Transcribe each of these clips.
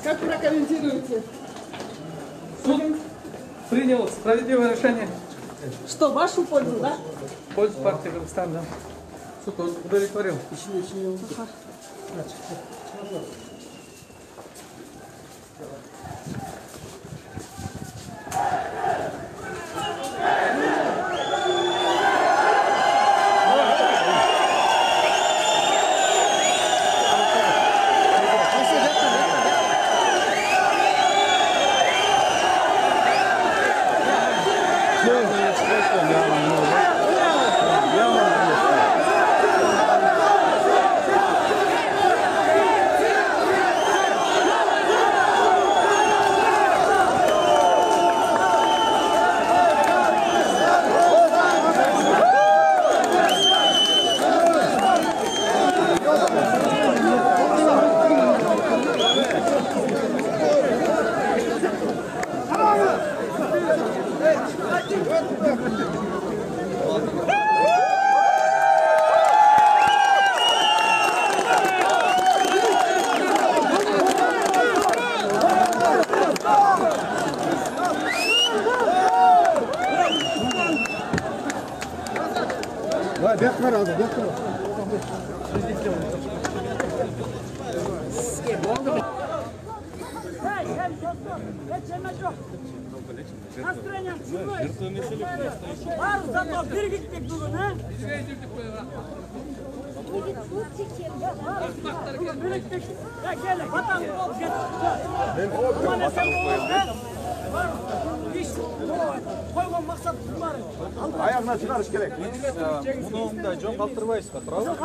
Как прокомментируете? Суд принял справедливое решение. Что, в вашу пользу, да? В пользу партии Кыргызстана. Суд удовлетворил. Настроение бар зато биргиттик бүгүн, биргиттик. Келе, батаңды болуп койгон максатыбыз бар. Аягына чыгарыш керек. Муну мындай жөн калтырбайсызга, туурабы? Биз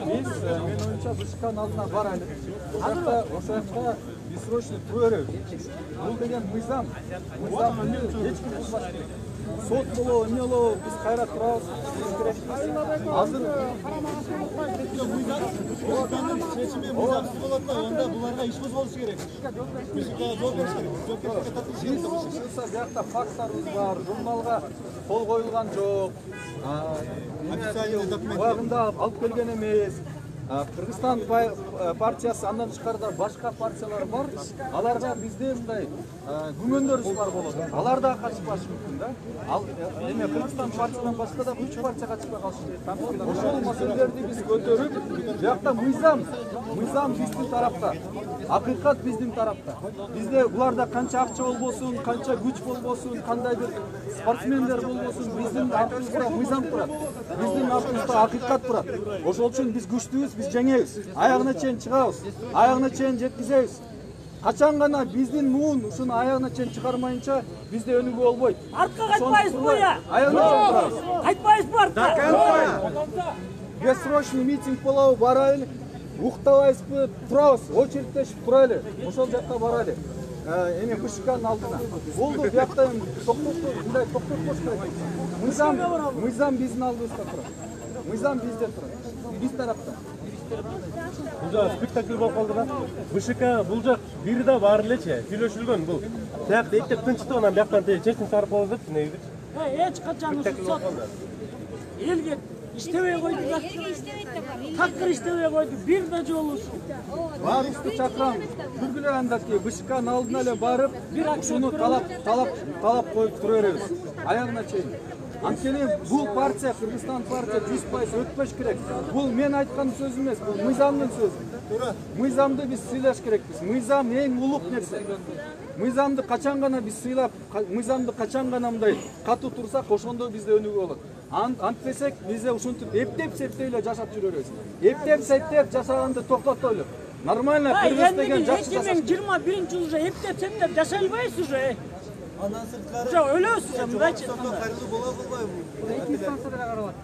менин оюмча БШКнын алдына барайлы. Ошол жакта бессрочный тура беребиз. Бул деген мыйзам. Мыйзамды эч ким бузбаш керек. Сот болобу, эмне болобу, биз кайра турабыз. Азыр Чечими мыйзамсыз болот да, онда буларга иш козголуш керек. БШКга жооп бериш керек. Жоопкерчиликке тартылыш керек. Биз биякта фактарыбыз бар, журналга кол коюлган жок. Официальный документ. Убагында алып келген эмес. Кыргызстан партиясы, андан тышкарыда башка партиялар бар. Аларга бизде мындай күмөндөрүбүз бар болот. Алар да катышпашы мүмкүн да. Ал эме Кыргызстан партиядан башка да 3 партия катышпай калышы мүмкүн. Ошол маселелерди биз көтөрүп, биякта мыйзам биздин тарапта. Акыйкат биздин тарапта. Бизде буларда канча акча болбосун, канча күч болбосун, кандай бир спортсмендер болбосун, биздин артыбызда мыйзам турат. Биздин артыбызда акыйкат турат. Ошол үчүн биз күчтүүбүз, биз жеңебиз. Аягына чейин чыгабыз, аягына чейин жеткизебиз. Качан гана биздин муун ушуну аягына чейин чыгармайынча бизде өнүгүү болбойт. Артка кайтпайсызбы я? Аягына чейин турабыз. Кайтпайсызбы артка? Бессрочный митинг болобу, барайлы. Уктабайсызбы, турабыз, очередтешип турайлы. Ошол жакка барайлы. Эми БШКнын алдына. Болду, биякта мындай токтотпош керек. Мыйзам биздин алдыбызда турат. Мыйзам бизде турат. Биз тарапта. Бул жак спектакль болуп калды да. БШК бул жак бири да бар элечи, сүйлөшүлгөн бул. Тиякта эптеп тынчтып анан бияктан чечим чыгарып коебуз деп негизи. Эч качан сот элге иштебей койду да. Такыр иштебей койду, бир да жолу. Баарыбызды чакырам. Бүткүлө андаки БШКнын алдына эле барып, ушуну талап коюп тура беребиз. Аягына чейин. Анткени бул партия, Кыргызстан партия 100% өтпөш керек. Бул мен айткан сөз эмес, бул мыйзамдын сөзү. Мыйзамды биз сыйлаш керекпиз. Мыйзам эң улук нерсе. Мыйзамды качан гана биз сыйлап, мыйзамды качан гана мындай катуу турсак, ошондо бизде өнүгүү болот. Антпесек бизде ушинтип эптеп-септеп эле жашап жүрөбүз. Эптеп-септеп жашаганды токтотойлу. Нормально кыргыз деген жакшы жашаш. 2021 уже эптеп-септеп жашай албайсыз уже. Андан сырткары Уже өлөсүз мындайчы. кайрылуу бола кылбайбы? Эки станцияда каралат.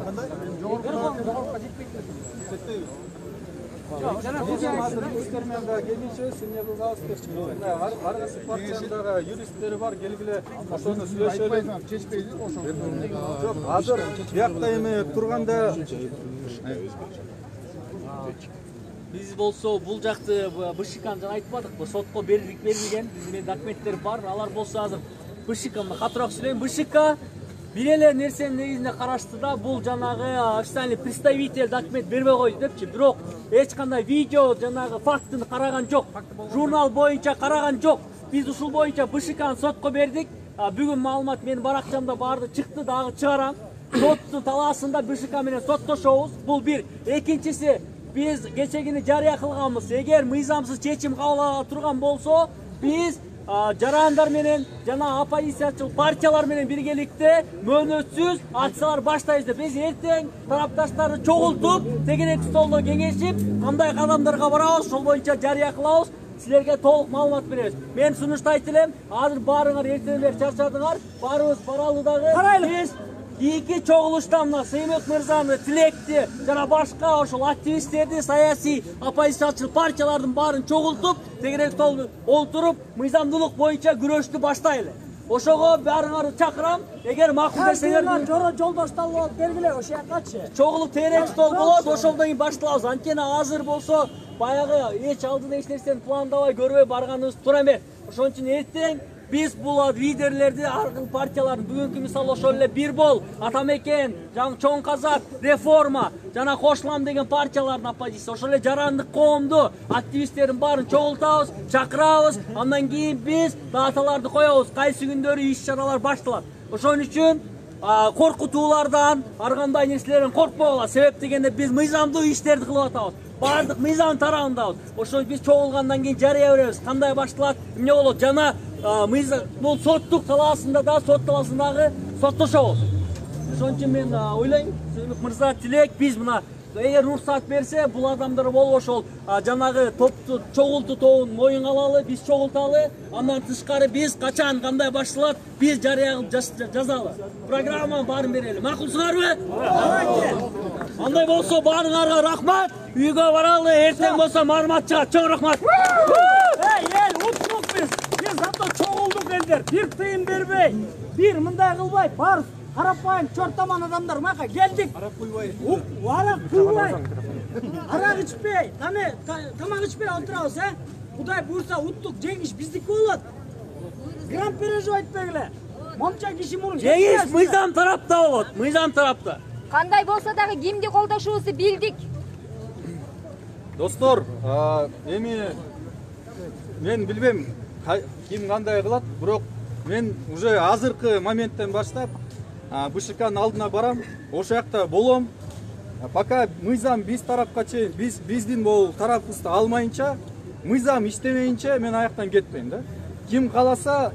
Кандай? Жетпейби? Юристтер менен да келишебиз, эмне кылабыз деп. Ар кайсы партиядагы юристтери бар, келгиле ошону сүйлөшөлү. Чечпейди ошону. Жок, азыр биякта эме турганда Биз болсо бул жакты БШКны жана айтпадыкпы, сотко берилген, биздин документтер бар. Алар болсо азыр БШКны катыраак сүйлөйм. БШК бир эле нерсенин негизинде карашты да, бул жанагы официальный представитель документ бербей койду депчи. Бирок эч кандай видео жанагы фактыны караган жок. Журнал боюнча караган жок. Биз ушул боюнча БШКны сотко бердик. Бүгүн маалымат менин баракчамда барды чыкты, дагы чыгарам. Соттун талаасында БШК менен соттошобуз. Бул бир. Экинчиси, биз кечегини жарыя кылганбыз. Эгер мыйзамсыз чечим кабыл ала турган болсо, биз жарандар менен жана оппозициячыл партиялар менен биргеликте мөөнөтсүз акциялар баштайбыз деп. Биз эртең тарапташтарды чогултуп, тегерек столдо кеңешип, кандай кадамдарга барабыз, ошол боюнча жарыя кылабыз. Силерге толук маалымат беребиз. Мен сунушту айтылем, азыр баарыңар эртеңдер чарчадыңар, баарыбыз баралы дагы. Биз Iki чогулуштан мына Сеймек мырзаны, Тилекти жана башка ошол активисттерди, саясий оппозициячыл партиялардын баарын чогултуп, тегерек столдо олтуруп, мыйзамдуулук боюнча күрөштү баштайлы. Ошого баарыңарды чакырам. Эгер макул десеңер, жолдош талап бергиле ошо жакачы. чогулуп терек стол болот, ошолдон кийин башталабыз. Анткени азыр болсо баягы эч алдыда эч нерсени пландабай көрбөй барганыбыз туура эмес. Ошон үчүн эртең биз бул лидерлерди, аркы партиялардын бүгүнкү мисалы ошол эле Бир Бол, Атамекен, Чоң Казак, Реформа жана Кошлам деген партиялардын оппозиция, ошол эле жарандык коомду, активисттердин баарын чогултабыз, чакырабыз. Андан кийин биз даталарды коебуз, кайсы күндөрү иш-чаралар башталат. Ошон үчүн коркутуулардан, ар кандай нерселерден коркпогула. Себеп дегенде биз мыйзамдуу иштерди кылып атабыз. Бардык мыйзам тарабындабыз. Ошон биз чогулгандан кийин жарыя беребиз. Кандай башталат, эмне болот, жана мыйзам бул соттук талаасында да, сот талаасындагы соттошобуз. Ошон үчүн мен ойлойм, Сеймек мырза, Тилек, биз мына эгер уруксат берсе, бул адамдар болуп ошол жанагы топту чогултуу тобун моюнга алалы, биз чогулталы. Андан тышкары биз качан кандай башталат, биз жарыя кылып жазалы. Программанын баарын берели. Макулсуңарбы? Андай болсо баарыңарга рахмат. Үйгө баралы, эртең болсо маалымат чыгат. Чоң рахмат. Эл уттук биз. Биз зато чогулдук элдер. Бир тыйын бербей, бир мындай кылбай, бар карапайым чортаман адамдар мага келдик. Арак куйбай. Арак куйбай. Арак ичпей, тамак ичпей отурабыз, Кудай буйрса уттук жеңиш биздики болот. Гран переживать этпегиле. Момча киши мурун. Жеңиш мыйзам тарапта болот, мыйзам тарапта. Кандай болсо дагы кимди колдошубузду билдик. Достор, эми мен билбем ким кандай кылат, бирок мен уже азыркы моменттен баштап БШКнын алдына барам, ошол жакта болом. Пока мыйзам биз тарапка чейин, биздин бул тарапыбызды алмайынча, мыйзам иштемейинче мен аяктан кетпейм да. Ким кааласа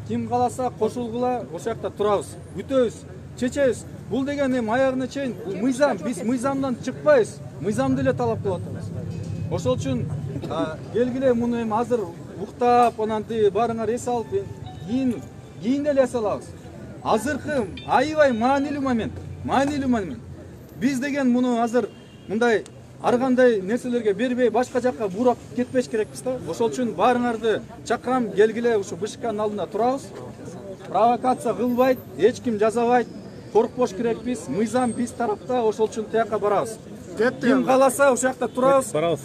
кошулгула, ошол жакта турабыз, күтөбүз, чечебиз. Бул деген эми аягына чейин мыйзам, биз мыйзамдан чыкпайбыз, мыйзамды эле талап кылып атабыз. Ошол үчүн келгиле муну эми азыр уктап, анан баарыңар эс алып, кийин деле эс алабыз. Азыркы аябай маанилүү момент. Биз деген муну азыр мындай ар кандай нерселерге бербей, башка жакка буурап кетпеш керекпиз да. Ошол үчүн баарыңарды чакырам, келгиле ушу БШКнын алдында турабыз. Провокация кылбайт, эч ким жазабайт, коркпош керекпиз. Мыйзам биз тарапта, ошол үчүн тияка барабыз. Ким кааласа ошол жакта турабыз. Барабыз.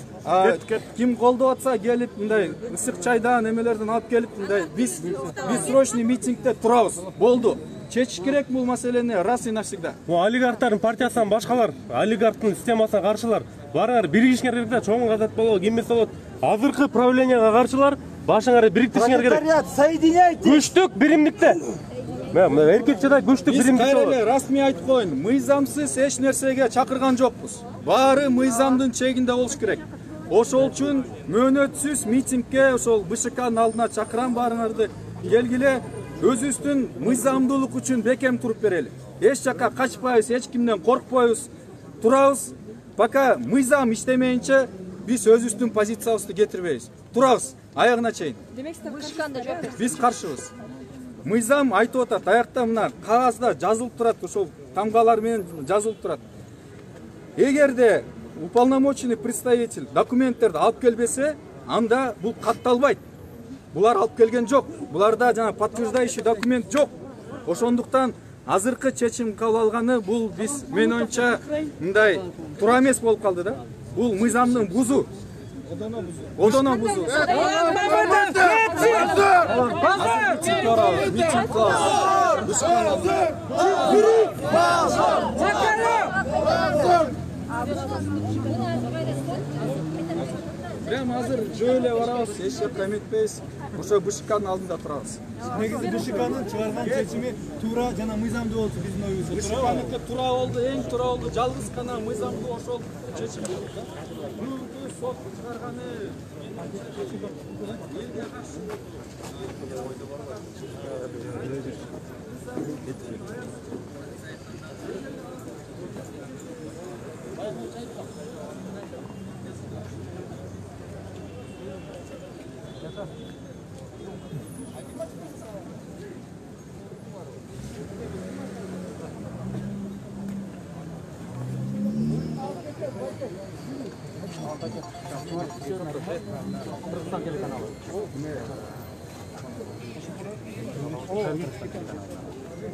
Ким колдоп атса келип мындай ысык чайдан эмелерден алып келип мындай биз срочный митингде турабыз. Болду. Чечиш керек бул маселени раз и навсегда. Бул олигархтардын партиясынан башкалар, олигархтын системасына каршылар. Барыңар биригишиңер керек да, чоң казат болобу, кимес болот. Азыркы правленияга каршылар, башыңарды бириктиришиңер керек. Соединяйте. Күчтүк биримдикте. Мен эркекчеде күчтүк биримдикте болот. Биз расмий айтып коеюн, мыйзамсыз эч нерсеге чакырган жокпуз. Баары мыйзамдын чегинде болуш керек. Ошол үчүн мөөнөтсүз митингге ошол БШКнын алдына чакырам баарыңарды. Келгиле өзүбүздүн мыйзамдуулук үчүн бекем туруп берели. Эч жакка качпайбыз, эч кимден коркпойбуз, турабыз. Пока мыйзам иштемейинче биз өзүбүздүн позициябызды кетирбейбиз. Турабыз аягына чейин. Бышыканда жок. Биз каршыбыз. Мыйзам айтып атат, аякта мына кагазда жазылып турат, ошол тамгалар менен жазылып турат. Эгерде уполномоченный представитель документтерди алып келбесе, анда бул катталбайт. Булар алып келген жок. Буларда жана подтверждающий документ жок. Ошондуктан азыркы чечим кабыл алганы бул биз мен оюмча мындай туура эмес болуп калды да. Бул мыйзамдын бузу. Одоно бузу. Прямо азыр жөө эле барабыз, эч жакка эметпейбиз. Ошо БШКнын алдында турабыз. Негизи БШКнын чыгарган чечими туура жана мыйзамдуу болсо биздин оюбузда. БШКныкы туура болду, эң туура болду. Жалгыз гана мыйзамдуу ошол чечим болду да. Бүгүнкү сот чыгарганы элге каршы.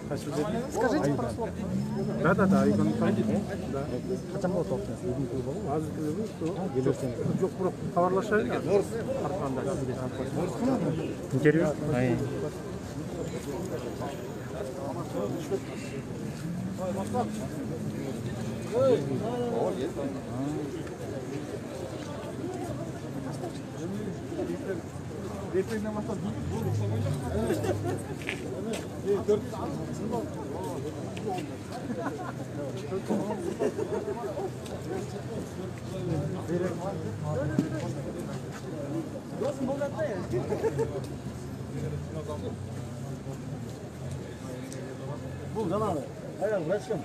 Скажите пару слов. Да, Игорь Михайлович. Да. Качан болот окуя? Азыр жок, бирок кабарлашайын. Интервью? Бул жанагы аял врачкам.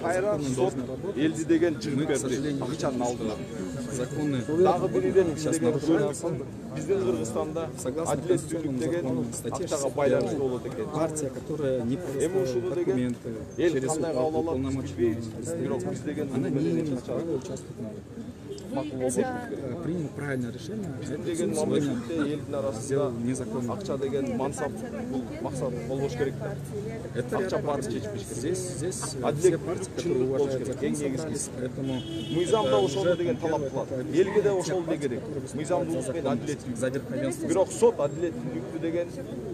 Кайра сот элди деген чыгып берди. Акчанын алдына. Законный. Дагы бириден биздин Кыргызстанда адилеттүүлүк деген акчага байланыштуу болот экен. Партия, которая не Эми ушуну деген эл кандай кабыл алат билбейбиз. Бирок биз деген она не имеет права участвовать. Примут правильное решение. деген мамлекетте элдин арасында незаконно. акча деген мансап бул максат болбош керек да. Это Акча баары чечпеш керек. здесь Адилет партии, чындык которые болуш уважают керек. закон, Эң негизгиси. поэтому Мыйзамда ошону деген талап кылат. Элге да ошол да керек. Мыйзамдуулук менен адилеттүүлүк. за верховенство. Бирок сот адилеттүүлүктү деген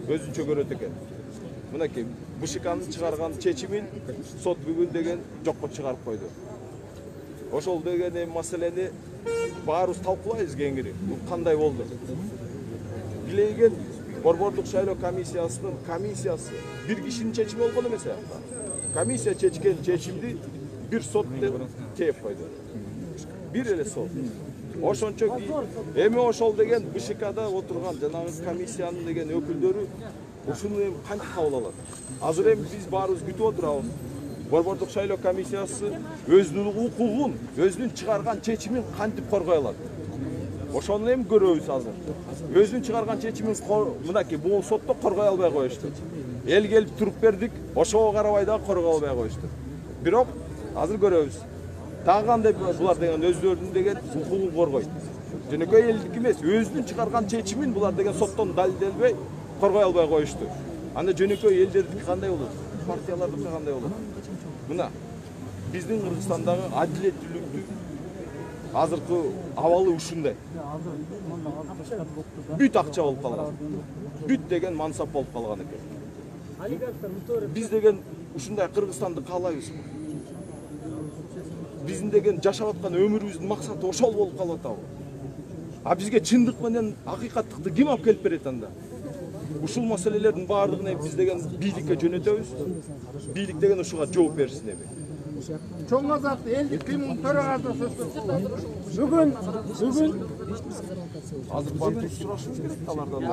өзүнчө көрөт экен. Мынакей БШКнын чыгарган чечимин сот бүгүн деген жокко чыгарып койду. Ошол деген маселени баарыбыз талкуулайбыз кеңири. Бул кандай болду? Билейген Борбордук шайлоо комиссиясы бир кишинин чечими болгон эмес аякта. Комиссия чечкен чечимди бир сот деп тээп койду. Бир эле сот. Ошончо эми ошол деген БШКда отурган жанагы комиссиянын деген өкүлдөрү ушуну эми кантип кабыл алат? Азыр эми биз баарыбыз күтүп отурабыз. Борбордук шайлоо комиссиясы өзүнүн укугун, өзүнүн чыгарган чечимин кантип коргой алат? Ошону эми көрөбүз азыр. Өзүнүн чыгарган чечимин мынакей бул сотто коргой албай коюшту. эл келип туруп бердик, ошого карабай дагы коргой албай коюшту. Бирок азыр көрөбүз. Дагы кандай булар деген өздөрүнүн деген укугун коргойт. Жөнөкөй элдик эмес, өзүнүн чыгарган чечимин булар деген соттон далилделбей коргой албай коюшту. Анда жөнөкөй элдердики кандай болот? Партиялардыкы кандай болот? Мына биздин Кыргызстандагы адилеттүүлүктү азыркы абалы ушундай. Бүт акча болуп калган. Бүт деген мансап болуп калган экен. Биз деген ушундай Кыргызстанды каалайбыз. Биздин деген жашап аткан өмүрүбүздүн максаты ошол болуп калып атабы. А бизге чындык менен акыйкаттыкты ким алып келип берет анда? Ушул маселелердин баардыгын биз деген бийликке жөнөтөбүз. Бийлик деген ушуга жооп берсин эми. Чоң Азат элдик кыймыл төрагасы Бүгүн Азыр барып сурашып керек алардан.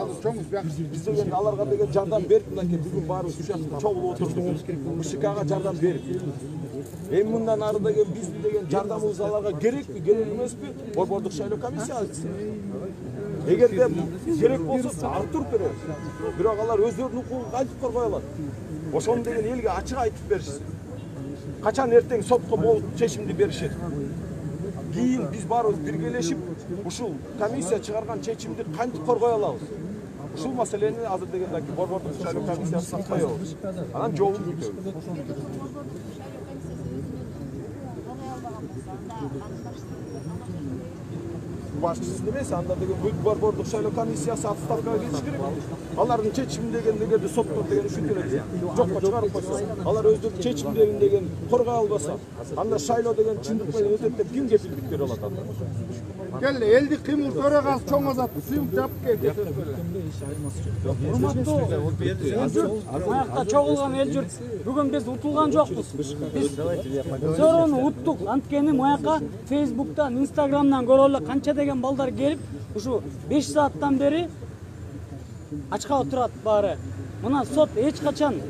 Биз деген аларга деген жардам берип, мынакей бүгүн баарыбыз ушул жакта чогулуп отурдук. БШКга жардам берип. Эми мындан ары деген биздин деген жардамыбыз аларга керекпи, керек эмеспи? Борбордук шайлоо комиссиясы айтсын. Эгерде керек болсо артур беребиз. Бирок алар өздөрүнүн укугун кантип коргой алат? Ошону деген элге ачык айтып беришsin. Качан эртең сотко болуп чечимди беришет. Кийин биз баарыбыз биргелешип, ушул комиссия чыгарган чечимди кантип коргой алабыз? Ушул маселени азыр дегенде борбордук шайлоо комиссиясына коебуз. Анан жообун күтөбүз. Башчысы эмес, анда деген бүт борбордук шайлоо комиссиясы отставкага кетиш керек. Алардын чечими дегенде соттор деген ушинтип эле жокко чыгарып койсо, алар өздөрүнүн чечимдерин деген коргой албаса, анда шайлоо деген чындык менен өтөт деп ким кепилдик бере алат анда? Келди, элдик кыймыл төрагасы Чоң Азат сыйып жаап келди. урматтуу аякта чогулган эл журт, бүгүн биз утулган жокпуз. Биз зороону уттук. Анткени маяка Facebook'tan, Instagram'dan көрө эле канча деген балдар келип, ушу 5 сааттан бери ачка отурат баары. Мына сот эч качан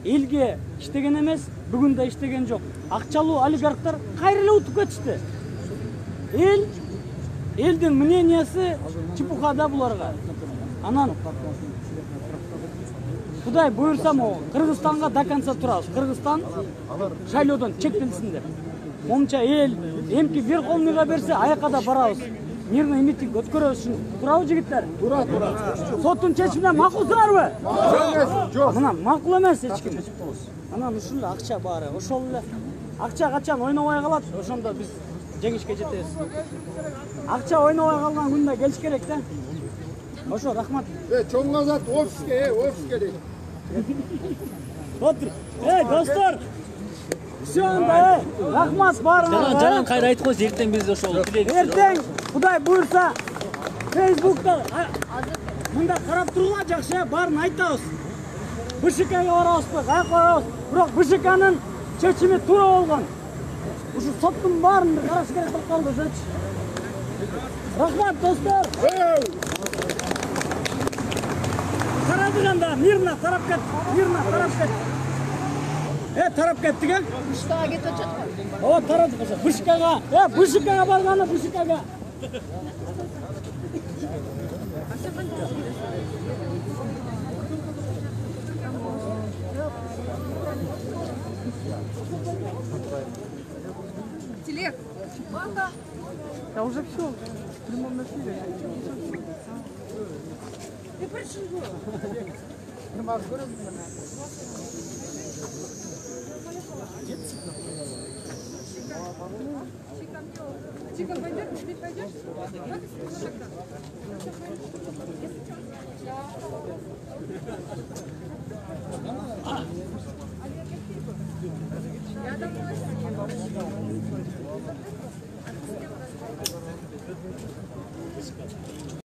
элге иштеген эмес, бүгүн да иштеген жок. Акчалуу олигархтар кайра эле утуп кетишти. Элдин мнениясы чепухада буларга. Анан Кудай буйрса могу Кыргызстанга до конца турабыз. Кыргызстан шайлоодон чектелсин деп. Момча эл эмки Верховныйга берсе, аяка да барабыз. Мирный митинг өткөрөбүз үчүн. Турабы жигиттер? Тура. Соттун чечимине макулсыңарбы? Жок. Мына макул эмес эч ким. Анан ушул эле акча баары. Ошол эле акча качан ойнобой калат, ошондо биз жеңишке жетебиз. Акча ойнобой калган күндө келиш керек да. Ошо, рахмат. Чоң Азат офиске дейт. Отур. Достор. Все анда, рахмат баарыңарга. Жанан кайра айтып койсо, эртең биз ошол тилегибизди. Эртең Кудай буйрса Facebook'та мында карап тургула жакшы, баарын айтабыз. БШКга барабызбы, каяка барабыз? Бирок БШКнын чечими туура болгон. Ушу соттун баарын караш керек болуп калды өзөчү. Рахмат достор. Тарадыганда мирно тарап кет, тарап кеттик, э? БШКга кетип атат. О, тарадык ошо. БШКга барганы БШКга. Телег. Да уже все. В прямом эфире. Ты пришел. Чика пойдет, ты пойдешь? Я домой.